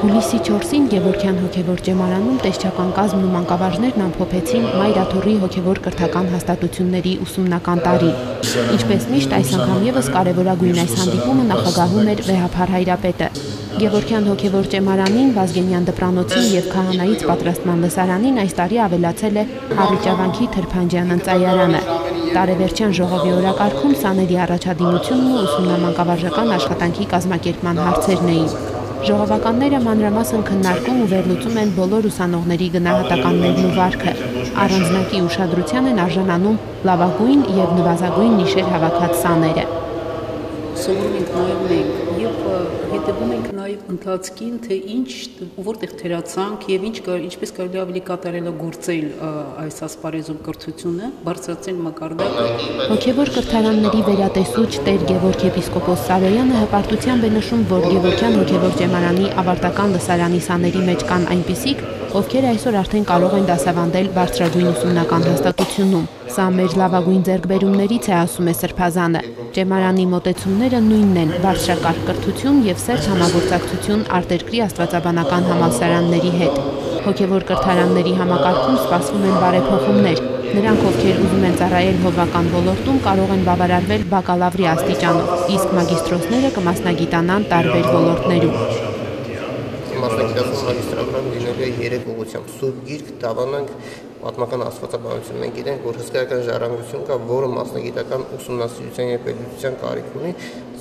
Հուլիսի 4-ին Գևորգյան հոգևոր ճեմարանում տեսչական կազմն ու մանկավարժներն ամփոփեցին Մայր Աթոռի հոգևոր կրթական հաստատությունների ուսումնական տարին։ Ինչպես միշտ, այս անգամ ևս կարևորագույն այս հանդիպումը նախագահում էր վեհափառ հայրապետը։ Գևորգյան հոգևոր ճեմարանին, Վազգենյան դպրանոցին եւ Քահանայից պատրաստման լսարանին այս տարի ավելացել է Հառիճավանքի Թրփանջյան ընծայարանը։ Տարեվերջյան ժողովի օրակարգում սաների առաջադիմությունն ու ուսումնամանկավարժական աշխատանքի կազմակերպման հարցերն էին։ Ժողովականները մանրամասն քննարկում ու վերլուծում են բոլոր ուսանողների գնահատականներն ու վարքը։ Առանձնակի ուշադրության են արժանանում լավագույն եւ նվազագույն նիշեր հավաքած սաները։ Սովորում ենք նայում եւ հետևում ենք նաեւ ընթացքին, թե ինչ որտեղ թերացանք եւ ինչպես կարելի ավելի կատարելագործել այս ասպարեզում կրթությունը, բարձրացնել մակարդակը։ Հոգևոր կրթարանների վերատեսուչ Տեր Գևորգ եպիսկոպոս Սարոյանը հպարտությամբ է նշում, որ Գևորգյան հոգևոր ճեմարանի ավարտական լսարանի սաների մեջ կան այնպիսիք, ովքեր այսօր արդեն կարող են դասավանդել բարձրագույն ուսումնական հաստատությունում։ Սա մեր լավագույն ձեռքբերումներից է, ասում է Սրբազանը։ Ճեմարանի մոտեցումները նույնն են՝ բարձրակարգ կրթություն եւ սերտ համագործակցություն արտերկրի աստվածաբանական համալսարանների հետ։ Հոգևոր կրթարանների համակարգում սպասվում են բարեփոխումներ։ Նրանք, ովքեր ուզում են ծառայել հովվական ոլորտում, կարող են բավարարվել բակալավրի աստիճանով, իսկ մագիստրոսները կմասնագիտանան տարբեր ոլորտներում։ Մասնագիտացում մագիստրատուրան լինելու է 3 ուղղությամբ՝ Սուրբ Գիրք, դավանանք, պատմական աստվածաբանություն։ Մենք գիտենք, որ հսկայական ժառանգություն կա, որը մասնագիտական ուսումնասիրության եւ պետության կարիք ունի։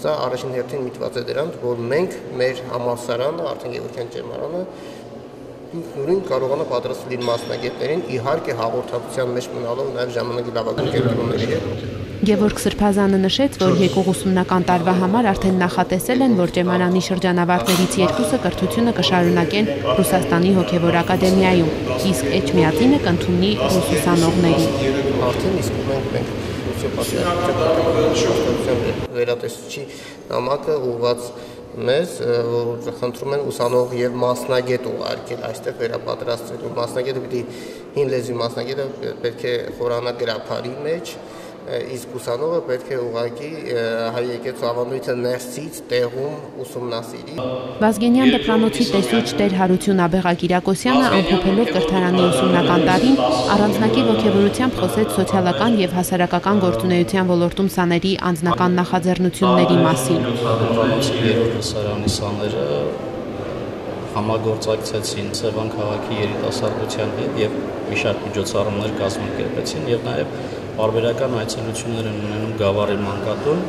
Սա առաջին հերթին միտված է դրան, որ մենք մեր համալսարանը, արդեն Գևորգյան ճեմարանը, ինքնուրույն կարողանա պատրաստել իր մասնագետներին, իհարկե հաղորդակցության մեջ մնալով նաեւ ժամանակի լավագույն կենտրոնների հետ։ Գևորգ Սրբազանը նշեց, որ եկող ուսումնական տարվա համար արդեն նախատեսել են, որ ճեմարանի շրջանավարտներից 2-ը կրթությունը կշարունակեն Ռուսաստանի հոգևոր ակադեմիայում, իսկ Էջմիածինը կընդունի ռուս ուսանողներին։ Արդեն իսկ մենք Ռուսիա պատասխանատվության վերատեսչի նամակը ուղղված մեզ, որ խնդրում են ուսանող եւ մասնագետ ուղարկել այստեղ վերապատրաստելու։ Մասնագետը պիտի հին լեզվի մասնագետը պետք է խորանա գրափարի մեջ, իսկ ուսանողը պետք է ուղղակի հայ եկեղեցու ավանդույթը ներսից տեղում ուսումնասիրի։ Վազգենյան դպրանոցի տեսուչ Տեր Հարություն Աբեղակիրակոսյանը ամփոփելով կրթարանի ուսումնական տարին առանձնակի ոգևորությամբ խոսեց սոցիալական եւ հասարակական գործունեության ոլորտում սաների անձնական նախաձեռնությունների մասին։ Երրորդ լսարանի սաները համագործակցեցին Սևան քաղաքի երիտասարդության հետ եւ մի շարք միջոցառումներ կազմակերպեցին եւ նաեւ բարբերական այցելություններ են ունենում Գավառի մանկատուն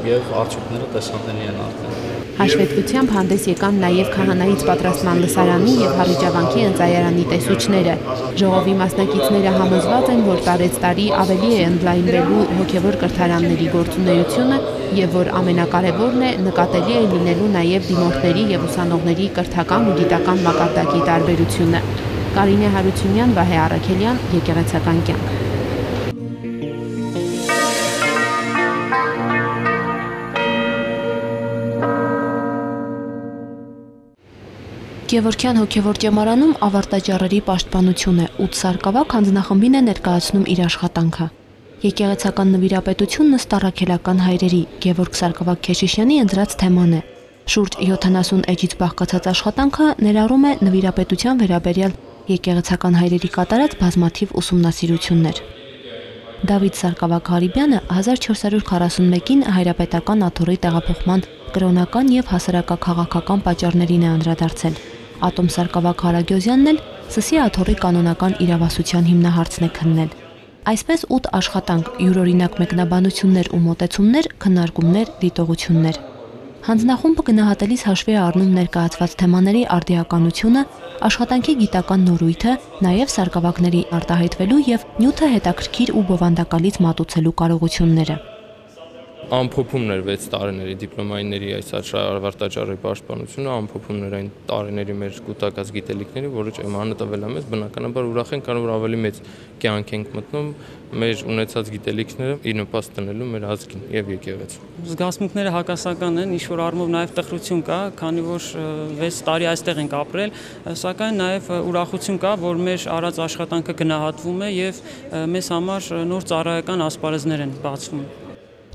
եւ արդյունքները տեսանելի են արդեն։ Հաշվետվությամբ հանդես եկան նաև Քահանայից պատրաստման լսարանի եւ Հառիճավանքի ընծայարանի տեսուչները։ Ժողովի մասնակիցները համոզված են, որ տարեց տարի ավելի է ընդլայնվելու հոգևոր կրթարանների գործունեությունը եւ որ ամենակարևորն է նկատելի է լինելու նաև դիմորդների եւ ուսանողների կրթական ու գիտական մակարդակի տարբերությունը։ Կարինե Հարությունյան, Վահե Առաքելյան, Եկեղեցական կյանք։ Գևորգյան հոգևոր ճեմարանում ավարտաճառերի պաշտպանություն է, 8 սարկավակ հանձնախմբին է ներկայացնում իր աշխատանքը։ Եկեղեցական նվիրապետությունն ըստ առաքելական հայրերի Գևորգ Սարգսակ Քեշիշյանի ընտրած թեման է։ Շուրջ 70 էջից բաղկացած աշխատանքը ներառում է նվիրապետության վերաբերյալ եկեղեցական հայրերի կատարած բազմաթիվ ուսումնասիրություններ։ Դավիթ Սարգսակ-Հարիբյանը 1441-ին հայրապետական աթոռի տեղափոխման կրոնական եւ հասարակաքաղաքական պատճառներին է անդրադարձել։ Ատոմ Սարգսակ-Հարագյոզյանն էլ Սսի աթոռի կանոնական իրավասության հիմնահարցն է քննել։ Այսպես 8 աշխատանք, յուրօրինակ մեկնաբանություններ ու մոտեցումներ, քննարկումներ, դիտողություններ։ Հանձնախումբը գնահատելիս հաշվի է առնում ներկայացված թեմաների արդիականությունը, աշխատանքի գիտական նորույթը, նաև սարկավակների արտահայտվելու եւ նյութը հետաքրքիր ու բովանդակալից մատուցելու կարողությունները։ ամփոփումն էր 6 տարիների դիպլոմայինների այս ավարտաճառի պաշտպանությունը, ամփոփումն էր այն տարիների մեր կուտակած գիտելիքների, որը ՃՄԱՆ-ը տվել է մեզ, բնականաբար ուրախ ենք, քանի որ ավելի մեծ կյանք ենք մտնում մեր ունեցած գիտելիքները ի նպաստ տնելու մեր ազգին եւ եկեղեցին։ Զգացմունքները հակասական են, ինչ որ առումով նաեւ տխրություն կա, քանի որ 6 տարի այստեղ ենք ապրել, սակայն նաեւ ուրախություն կա, որ մեր արած աշխատանքը գնահատվում է եւ մեզ համար նոր ծառայական ասպարեզներ են բացվում։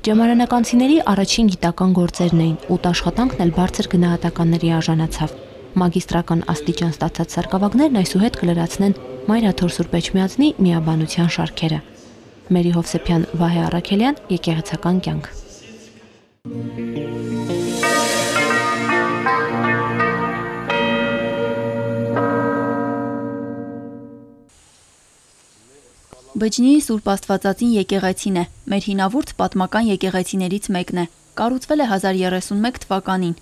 Ճեմարանականցիների առաջին գիտական գործերն էին, ութ աշխատանքն էլ բարձր գնահատականների արժանացավ։ Մագիստրական աստիճան ստացած սարկավագներն այսուհետ կլրացնեն Մայրաթոր Սուրբ Էջմիածնի միաբանության շարքերը։ Մերի Հովսեփյան, Վահե Առաքելյան, եկեղեցական կյանք։ Բջնի Սուրբ Աստվածածին եկեղեցին է, մեր հինավուրց պատմական եկեղեցիներից մեկն է, կառուցվել է 1031 թվականին։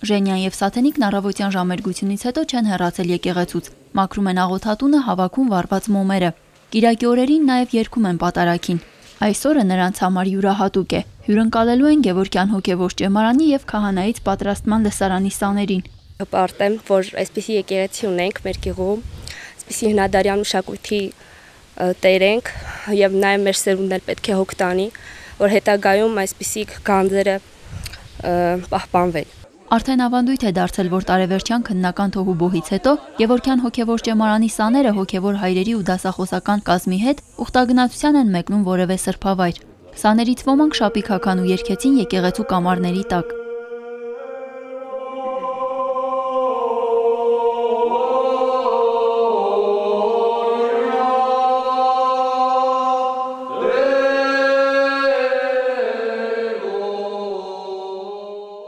Ժենյան եւ Սաթենիկն առավոտյան ժամերգությունից հետո չեն հեռացել եկեղեցուց, մաքրում են աղոթատունը, հավաքում վառված մոմերը։ Կիրակի օրերին նաեւ երգում են պատարագին։ Այսօրը նրանց համար յուրահատուկ է, հյուրընկալելու են Գևորգյան հոգևոր ճեմարանի եւ քահանայից պատրաստման լսարանի սաներին։ Հպարտեմ, որ այսպիսի եկեղեցի ունենք մեր գյուղում, այսպիսի հնադարյան մշակույթի տեր ենք եւ նաեւ մեր սերունդն էլ պետք է հոգ տանի, որ հետագայում այսպիսի գանձերը պահպանվեն։ Արդեն ավանդույթ է դարձել, որ տարեվերջյան քննական թոհուբոհից հետո Գևորգյան հոգևոր ճեմարանի սաները հոգևոր հայրերի ու դասախոսական կազմի հետ ուխտագնացության են մեկնում որևէ սրբավայր։ Սաներից ոմանք շապիկ հագան ու երգեցին եկեղեցու կամարների տակ։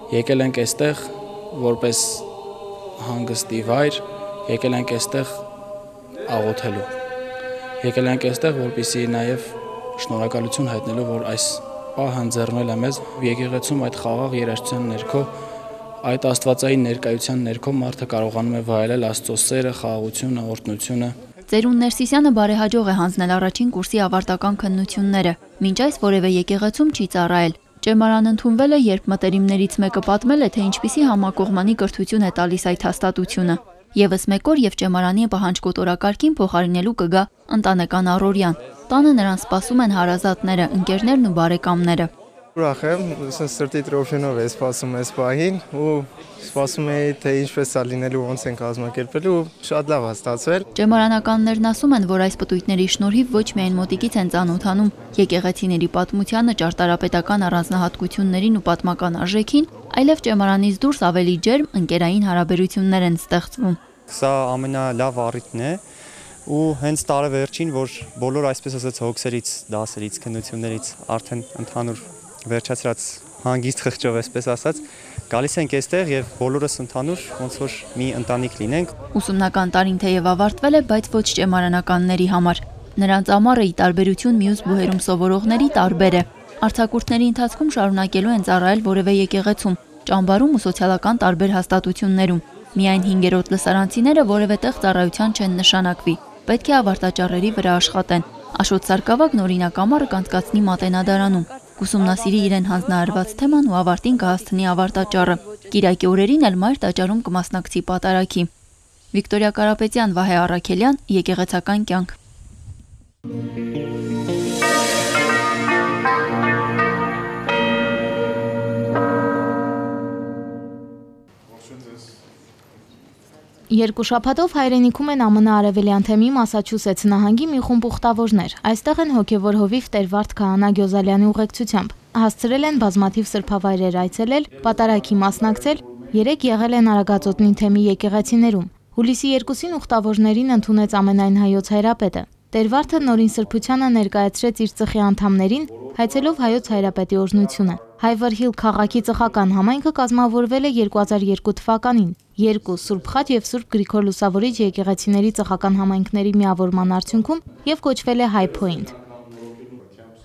Եկել ենք այստեղ որպես հանգստի վայր, եկել ենք այստեղ աղոթելու։ Եկել ենք այստեղ, որպեսզի նաև շնորհակալություն հայտնելու, որ այս պահը ընձեռնել է մեզ եկեղեցում այդ խաղաղ երաժշտության ներքո, այդ աստվածային ներկայության ներքո մարդը կարողանում է վայելել Աստծո սերը, խաղաղությունը, օրհնությունը։ Ծերուն Ներսիսյանը բարեհաջող է հանձնել առաջին կուրսի ավարտական քննությունները, մինչ այս որևէ եկեղեցում չի ծառայել։ Ճեմարան ընդունվել է, երբ մտերիմներից մեկը պատմել է, թե ինչպիսի համակողմանի կրթություն է տալիս այդ հաստատությունը։ Եվս մեկ օր եւ ճեմարանի պահանջկոտ օրակարգին փոխարինելու կգա ընտանեկան առօրյան։ Տանը նրան սպասում են հարազատները, ընկերներն ու բարեկամները։ Ուրախ եմ, սրտի տրոփյունով է սպասում այս պահին ու սպասում էի, թե ինչպես է լինելու, ոնց են կազմակերպելու, շատ լավ է ստացվել։ Ճեմարանականներն ասում են, որ այս պտույտների շնորհիվ ոչ միայն մոտիկից են ծանոթանում եկեղեցիների պատմությանը, ճարտարապետական առանձնահատկություններին ու պատմական արժեքին, այլև ճեմարանից դուրս ավելի ջերմ ընկերային հարաբերություններ են ստեղծվում։ Սա ամենալավ առիթն է ու հենց տարեվերջին, որ բոլոր այսպես ասած հոգսերից, դասերից, քննություններից արդեն ընդհանուր վերջացրած հանգիստ խղճով այսպես ասած գալիս ենք այստեղ եւ բոլորս ընդհանուր ոնց որ մի ընտանիք լինենք։ Ուսումնական տարին թեև ավարտվել է, բայց ոչ ճեմարանականների համար։ Նրանց ամառը ի տարբերություն մյուս բուհերում սովորողների տարբեր է։ Արձակուրդների ընթացքում շարունակելու են ծառայել որևէ եկեղեցում, ճամբարում ու սոցիալական տարբեր հաստատություններում։ Միայն 5-րդ լսարանցիները որևէ տեղ ծառայության չեն նշանակվի։ Պետք է ավարտաճառերի վրա աշխատեն։ Աշոտ Սարգսակն օրինակ ամառը կանցկացնի Մատենադարանում։ Կուսումնասիրի իրեն հանձնարարված թեման ու ավարտին կհասցնի ավարտաճառը։ Կիրակի օրերին էլ Մայր տաճարում կմասնակցի պատարագի։ Վիկտորիա Կարապետյան, Վահե Առաքելյան, եկեղեցական կյանք։ Երկու շաբաթով հայրենիքում են ԱՄՆ արևելյան թեմի Մասաչուսեթս նահանգի մի խումբ ուխտավորներ։ Այստեղ են հոգևոր հովիվ Տեր-Վարդ Քահանա Գյոզալյանի ուղեկցությամբ։ Հասցրել են բազմաթիվ սրբավայրեր այցելել, պատարագի մասնակցել, 3 եղել են Արագածոտնի թեմի եկեղեցիներում։ Հուլիսի 2-ին ուխտավորներին ընդունեց ամենայն հայոց հայրապետը։ Տեր-Վարդը նորին սրբությանը ներկայացրեց իր ծխի անդամներին, հայցելով հայոց հայրապետի օրհնությունը։ Հայվերհիլ քաղաքի ծխական համայնքը կազմավորվել է 2002 թվականին, 2 Սուրբ Խաչ եւ Սուրբ Գրիգոր Լուսավորիչ եկեղեցիների ծխական համայնքների միավորման արդյունքում եւ կոչվել է High Point։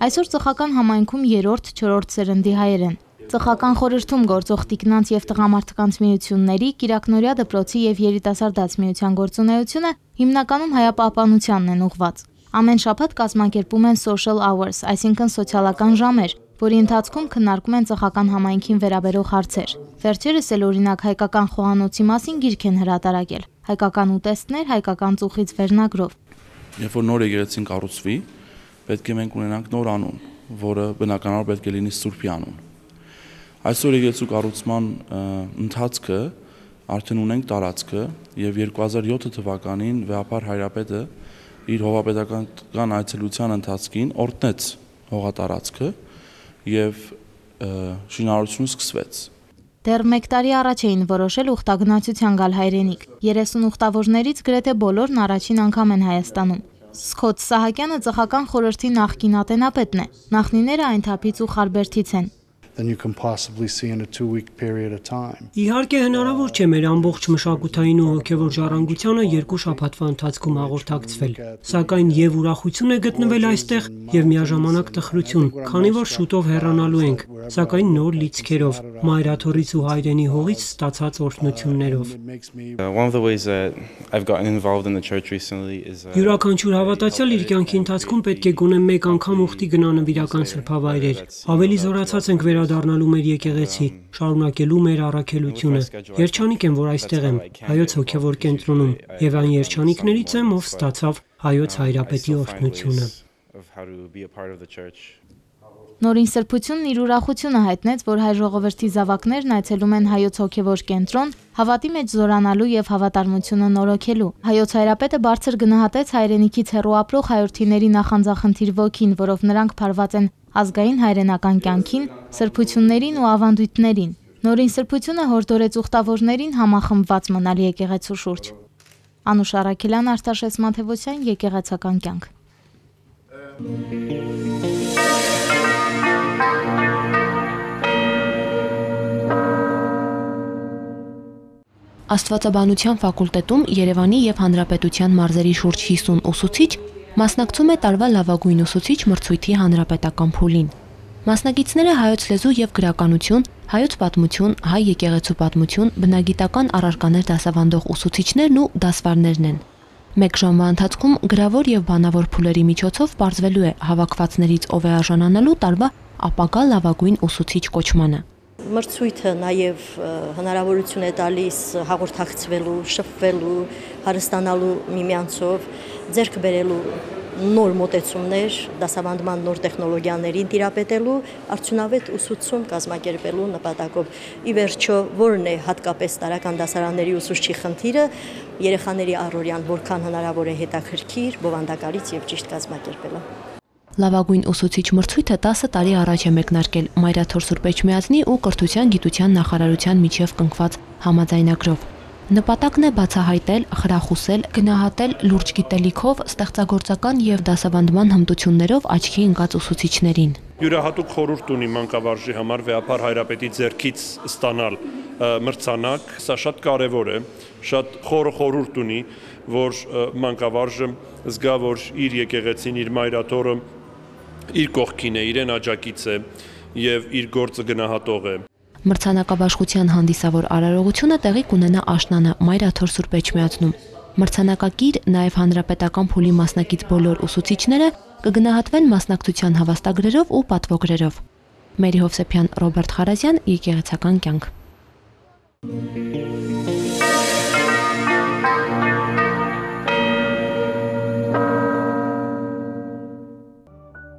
Այսօր ծխական համայնքում 3-րդ, 4-րդ սերնդի հայեր են։ Ծխական խորհրդում գործող տիկնանց եւ տղամարդկանց միությունների, Կիրակնորյա դպրոցի եւ երիտասարդաց միության գործունեությունը հիմնականում հայապահպանությանն են ուղղված։ Ամեն շաբաթ կազմակերպում են social hours, այսինքն սոցիալական ժամեր, որի ընթացքում քննարկում են ծխական համայնքին վերաբերող հարցեր։ Վերջերս էլ օրինակ հայկական խոհանոցի մասին գիրք են հրատարակել։ Հայկական ուտեստներ հայկական ծուխից վերնագրով։ Երբ որ նոր եկեղեցին կառուցվի, պետք է մենք ունենանք նոր անուն, որը բնականաբար պետք է լինի Սուրբի անուն։ Այսօր եկեղեցու կառուցման ընթացքը արդեն ունենք տարածքը եւ 2007 թվականին Վեհապար Հայրապետը իր հողապետական այցելության ընթացքին օրհնեց հողատարածքը եւ շինարարությունը սկսվեց։ Դեռ 1 տարի առաջ էին որոշել ուխտագնացության գալ հայրենիք։ 30 ուխտավորներից գրեթե բոլորն առաջին անգամ են Հայաստանում։ Սքոթ Սահակյանը ծխական խորհրդի նախկին ատենապետն է։ Նախնիները այն թափից ու Խարբերդից են։ than you can possibly see in a 2-week period of time. Իհարկե հնարավոր չէ մեր ամբողջ մշակութային ու հոգևոր ժառանգությանը 2 շաբաթվա ընթացքում հաղորդակցվել, սակայն եւ ուրախություն է գտնվել այստեղ եւ միաժամանակ տխրություն, քանի որ շուտով հեռանալու ենք, սակայն նոր լիցքերով, մայրաթորից ու հայրենի հողից ստացած օրհնություններով։ One of the ways that I've gotten involved in the church recently is Յուրաքանչյուր հավատացյալ իր կյանքի ընթացքում պետք է գոնե մեկ անգամ ուխտի գնա նվիրական սրբավայրեր։ Ավելի զորացած ենք վերադառնալու մեր եկեղեցի, շարունակելու մեր առաքելությունը։ Երջանիկ եմ, որ այստեղ եմ, հայոց հոգևոր կենտրոնում, եւ այն երջանիկներից եմ, ով ստացավ հայոց հայրապետի օրհնությունը։ Նորին սրբությունն իր ուրախությունը հայտնեց, որ հայ ժողովրդի զավակներն այցելում են հայոց հոգևոր կենտրոն, հավատի մեջ զորանալու եւ հավատարմությունը նորոգելու։ Հայոց հայրապետը բարձր գնահատեց հայրենիքից հեռու ապրող հայրենիների նախանձախնդիր ոգին, որով նրանք փարված են ազգային հայրենական կյանքին, սրբություններին ու ավանդույթներին։ Նորին սրբությունը հորդորեց ուխտավորներին համախմբված մնալ եկեղեցու շուրջ։ Անուշ Արաքելյան, Արտաշես Մաթևոսյան, Եկեղեցական կյանք։ Աստվածաբանության ֆակուլտետում Երևանի եւ Հանրապետության մարզերի շուրջ 50 ուսուցիչ մասնակցում է տարվա լավագույն ուսուցիչ մրցույթի հանրապետական փուլին։ Մասնակիցները հայոց լեզու եւ գրականություն, հայոց պատմություն, հայ եկեղեցու պատմություն, բնագիտական առարկաներ դասավանդող ուսուցիչներն ու դասվարներն են։ Մեկ ժամվա ընթացքում գրավոր եւ բանավոր փուլերի միջոցով բարձվելու է հավաքվածներից ով է արժանանալու տարվա ապագա լավագույն ուսուցիչ կոչմանը։ Մրցույթը նաև հնարավորություն է տալիս հաղորդակցվելու, շփվելու, հարստանալու միմյանցով, ձեռք բերելու նոր մոտեցումներ, դասավանդման նոր տեխնոլոգիաներին տիրապետելու, արդյունավետ ուսուցում կազմակերպելու նպատակով։ Ի վերջո, որն է հատկապես տարրական դասարանների ուսուցչի խնդիրը, երեխաների առօրյան որքան հնարավոր է հետաքրքիր, բովանդակալից եւ ճիշտ կազմակերպելը։ Լավագույն ուսուցիչ մրցույթը 10 տարի առաջ է մեկնարկել Մայրաթոր Սուրբ Էջմիածնի ու Կրթության գիտության նախարարության միջև կնքված համաձայնագրով։ Նպատակն է բացահայտել, խրախուսել, գնահատել լուրջ գիտելիքով, ստեղծագործական եւ դասավանդման հմտություններով աչքի ընկած ուսուցիչներին։ Յուրահատուկ խորհուրդ ունի մանկավարժի համար Վեհապար Հայրապետի ձեռքից ստանալ մրցանակ, սա շատ կարևոր է, շատ խորը խորհուրդ ունի, որ մանկավարժը զգա, որ իր եկեղեցին, իր մայրաթորը իր կողքին է, իրեն աջակից է եւ իր գործը գնահատող է։ Մրցանակաբաշխության հանդիսավոր արարողությունը տեղի կունենա Աշնանը Մայրաթոր Սուրբ Էջմիածնում։ Մրցանակակիր նաև հանրապետական փուլի մասնակից բոլոր ուսուցիչները կգնահատվեն մասնակցության հավաստագրերով ու պատվոգրերով։ Մերի Հովսեփյան, Ռոբերտ Խարազյան, Եկեղեցական կյանք։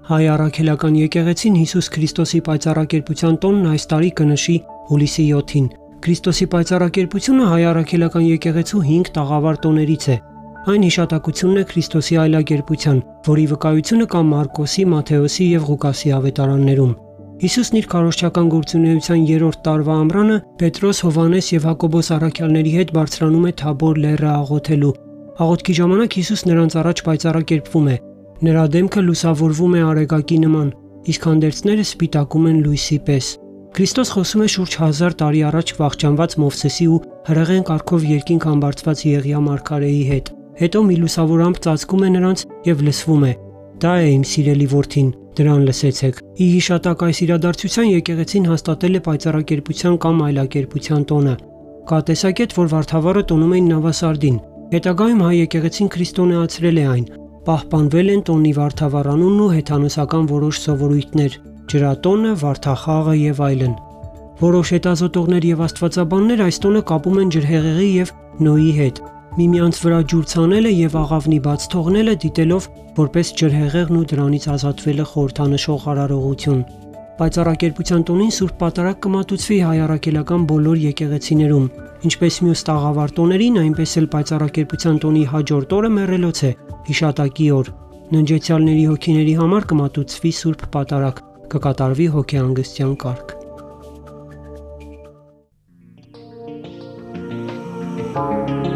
Հայ առաքելական եկեղեցին Հիսուս Քրիստոսի պայծառակերպության տոնն այս տարի կնշի հուլիսի 7-ին։ Քրիստոսի պայծառակերպությունը հայ առաքելական եկեղեցու 5 տաղավար տոներից է։ Այն հիշատակությունն է Քրիստոսի այլակերպության, որի վկայությունը կա Մարկոսի, Մատթեոսի եւ Ղուկասի ավետարաններում։ Հիսուսն իր քարոզչական գործունեության 3-րդ տարվա ամռանը Պետրոս, Հովհաննես եւ Հակոբոս առաքյալների հետ բարձրանում է Թաբոր լեռը աղոթելու։ Աղոթքի ժամանակ Հիսուս նրանց առաջ պայծառակերպվում է։ Նրա դեմքը լուսավորվում է արեգակի նման, իսկ հանդերձները սպիտակում են լույսի պես։ Քրիստոս խոսում է շուրջ 1000 տարի առաջ վախճանված Մովսեսի ու հրեղեն կարգով երկինք համբարձված Եղիա մարգարեի հետ։ Հետո մի լուսավորամp ծածկում է նրանց եւ լսվում է. «Դա է իմ սիրելի որդին, դրան լսեցեք»։ Ի հիշատակ այս իրադարձության եկեղեցին հաստատել է պայծառակերպության կամ այլակերպության տոնը։ Կա տեսակետ, որ Վարդավառը տոնում էին Նավասարդին։ Հետագայում հայ եկեղեցին քրիստոնեացրել է այն։ Պահպանվել են տոնի Վարդավառանունն ու հեթանոսական որոշ սովորույթներ։ ջրատոնը, վարդախաղը եւ այլն։ Որոշ հետազոտողներ եւ աստվածաբաններ այս տոնը կապում են ջրհեղեղի եւ Նոյի հետ։ Միմյանց վրա ջուր ցանելը եւ աղավնի բաց թողնելը դիտելով որպես ջրհեղեղն ու դրանից ազատվելը խորհրդանշող արարողություն։ Պայծառակերպության տոնին Սուրբ Պատարագ կմատուցվի հայ առաքելական բոլոր եկեղեցիներում, ինչպես մյուս տաղավար տոներին, այնպես էլ Պայծառակերպության տոնի հաջորդ օրը մեռելոց է, հիշատակի օր։ Ննջեցյալների հոգիների համար կմատուցվի Սուրբ Պատարագ, կկատարվի հոգեհանգստյան կարգ։ Thank you.